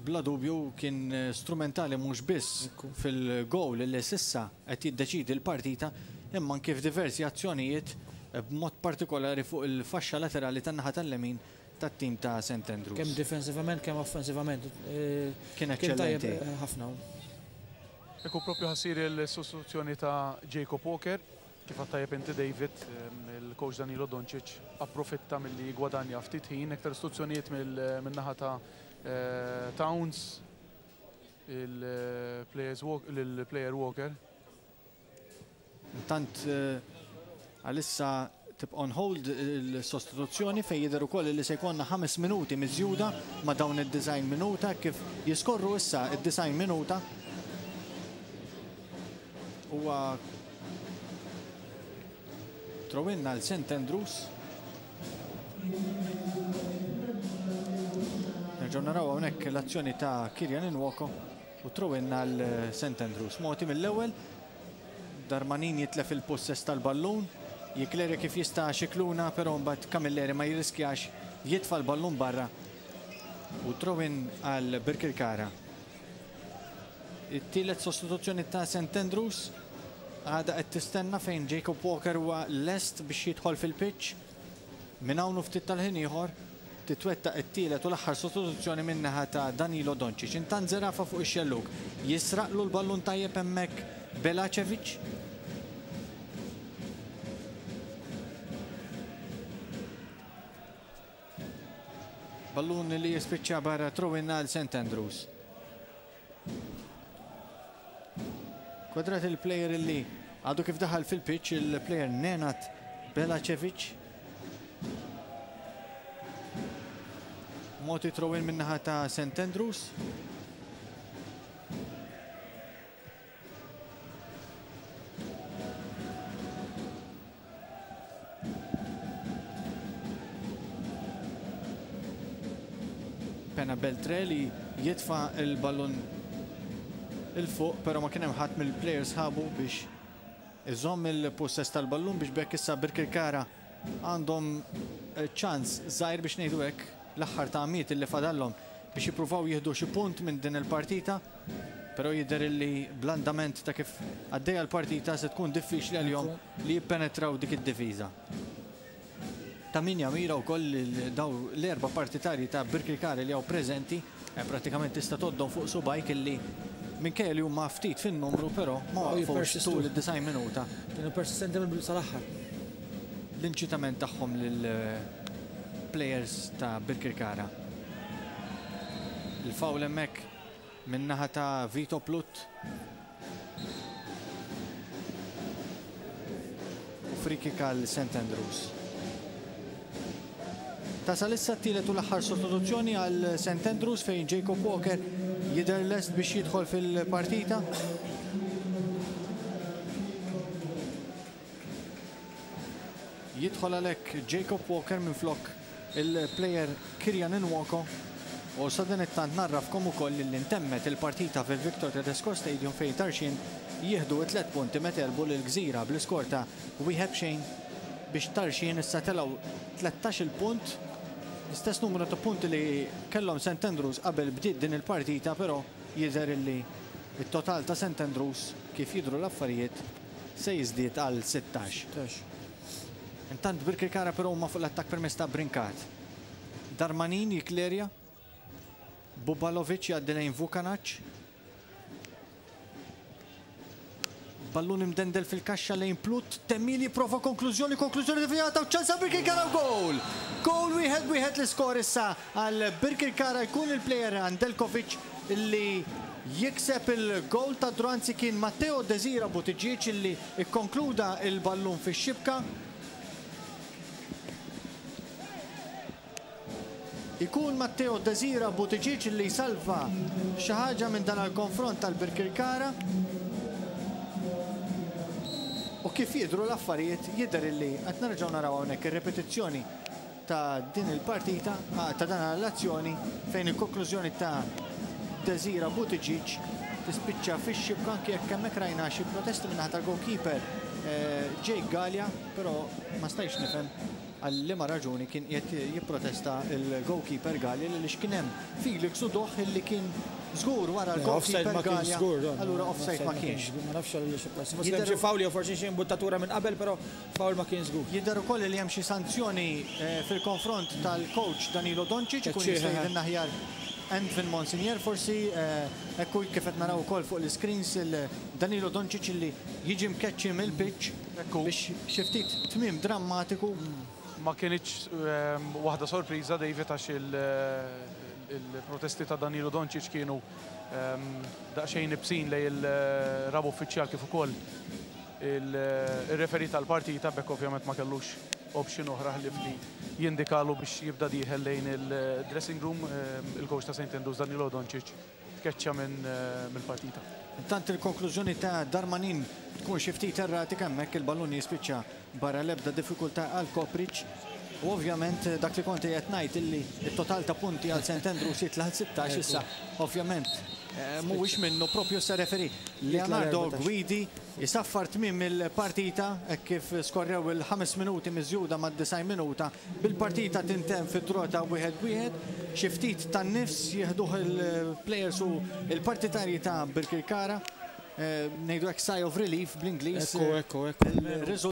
Bla dubju kien strumentali mhux biss fil-gowl li s'issa qed jiddeċiedi l-partita imma anki f'diversi azzjonijiet b'mod partikolari fuq il-faxxa laterali tan-naħa tal-lemin tat-tim ta' St Andrews. Kemm difensivament kemm offensivament kien kien tajjeb eċċellenti. ħafna. Ekku propju ħa ssir il-sostituzzjoni ta' Jacob Walker. Kif għedt tajjeb inti David, il-coach Danilo Doncic approfitta milli jigwadanja ftit ħin, iktar istruzzjonijiet min-naħa ta' Towns, il-player Walker. Intant għalissa tibqa' on hold il-sostituzzjoni fejn jidher ukoll li se jkollna 5 minuti miżjuda ma' dawn id-90 minuta kif jiskorru issa id-90 minuta. Huwa throw-in għal St Andrews. Nerġgħu naraw hawnhekk l-azzjoni ta' Kirian Nwoko u throw-in għal St Andrews. Moti mill-ewwel Darmanin jitlef il-possess tal-ballun, jiklerja kif jista' Scicluna, però mbagħad Camilleri ma jirriskjax jitfa' l-ballun barra u throw-in għal Birkirkara. It-tielet sostituzzjoni ta' St Andrews għadha qed tistenna fejn Jacob Walker huwa lest biex jidħol fil-pitch. Minn hawn u ftit tal-ħin ieħor titwettaq it-tielet u l-aħħar sostituzzjoni min-naħa ta' Danilo Doncic. Intant Zerafa fuq ix-xellug jisraqlu l-ballun tajjeb hemmhekk Belacevic. Ballun li jispiċċa barra throw-in għal St Andrews. Kwadrat il-player li għadu kif daħal fil-pitch, il-player Nenad Belacevic. Moti throw-in min-naħa ta' St Andrews. Pena Beltre li jitfa il-ballun il-fuq, pero ma kien hemm ħadd mill-players sħabu biex iżomm il-possess tal-ballun biex b'hekk issa Birkirkara għandhom ċans żgħir biex ngħidu hekk l-aħħar tagħmiet li fadallhom biex jippruvaw jieħdu xi punt minn din il-partita. Però jidher illi bl-andament ta' kif għaddejja l-partita se tkun diffiċli għalihom li jippenetraw dik id-difiża. Ta' min jamira wkoll lil daw l-erba' partitarji ta' Birkirkara li hawn preżenti, prattikament tista' tgħoddhom fuq subgħajk illi minkejja li huma ftit fin-numru però ma waqfux tul id-90 minuta. Kienu persistenti mill-bidu sal-aħħar. L-inċitament tagħhom lill-players ta' Birkirkara. Il-foul hemmhekk Min-naħa ta' Vito Plut. U free kick għal St Andrews. Tasal issa t-tielet u l-aħħar sostituzzjoni għal St Andrews fejn Jacob Walker jidher lest biex jidħol fil-partita. Jidħol għalhekk Jacob Walker minflok il-plejer Kyrian Nwoko u sadanittant ngħarrafkom ukoll li ntemmet il-partita fil-Victor Tedesco Stadium fejn Tarxien jieħdu t-tliet punti meta għelbu lil Gżira bl-iskor ta' wieħed b'xejn biex Tarxien issa telgħu 13-il punt, l-istess numru ta' punti li kellhom St Andrews qabel bdiet din il-partita però jidher illi t-total ta' St Andrews kif jidhru l-affarijiet se jiżdied għal 16. Intant Birkirkara però huma fuq l-attakk permezz ta' Brincat. Darmanin jiklerja. Bubalovic jgħaddi lejn Vukanac. Ballun imdendel fil-kaxxa lejn Plut, Temmil jipprova konklużjoni, konklużjoni devjata u ċans għal Birkirkara u goal! Goal wieħed wieħed l-iskor issa għal Birkirkara jkun il-plejer Andelkovic li jikseb il-goal ta' draw anzi kien Matteo Desira Buttigieg li kkonkluda l-ballun fix-xibka. Ikun Matteo Desira Buttigieg li jsalva xi ħaġa minn dan il-konfront tal-Birkirkara. U kif jidhru l-affarijiet jidher illi qed nerġgħu naraw hawnhekk ir-ripetizzjoni ta' din il-partita, ta' dan l-azzjoni fejn il-konklużjoni ta' Desira Buttigieg tispiċċa fix-xibka anke jekk hemmhekk rajna xi protesti min-naħa tal-goalkeeper Jake Galea, però ma stajtx nifhem. għal liema raġuni kien qiegħed jipprotesta l-goalkeeper Galea għaliex kien hemm Felix Udoh illi kien żgur wara l-goalkeeper Galea. Allura offside ma kienx. Ma nafx għal xi forsi hemm xi foul jew forsi xi imbuttatura minn qabel, però foul ma kien żgur. Jidher ukoll li hemm xi sanzjoni fil-konfront tal-coach Danilo Doncic, ikun jista' jgħidilna aħjar Anvin Monsignor forsi. Ekku kif qed naraw ukoll fuq l-screens il-Danilo Doncic illi jiġi mkeċċi mill-pitch biex xi ftit tmiem drammatiku. Ma kinitx waħda sorpriża, David, għax il-protesti ta' Danilo Doncic kienu daqsxejn iebsin lejn il-raba' uffiċjal kif ukoll il-referee tal-partita. Bekk ovvjament ma kellux option oħra ħlief li jindikalu biex jibda dieħel lejn il-dressing room. Il-coach ta' St. Andrews Danilo Doncic tkeċċa minn mill-partita. Intant il-konklużjoni ta' Darmanin tkun xi ftit erratika hemmhekk, il-ballun jispiċċa barra, l-ebda diffikultà għal Kopric. U ovvjament dak li konti qed ngħid illi it-total ta' punti għal St. Andrews jitla' 16 issa, ovvjament mhuwiex minnu propju sa referee Leonardo Guidi jisaffar tmiem il-partita hekk kif skorrew il-5 minuti miżjuda mad-90 minuta, bil-partita tintemm fid-draw ta' 1-1. Xi ftit tan-nifs jieħduh il-players u il-partitarji ta' Birkirkara. Ngħidu hekk, sigh of relief bl-Ingliż. Ekku, ekku, ekku. Il-riżultat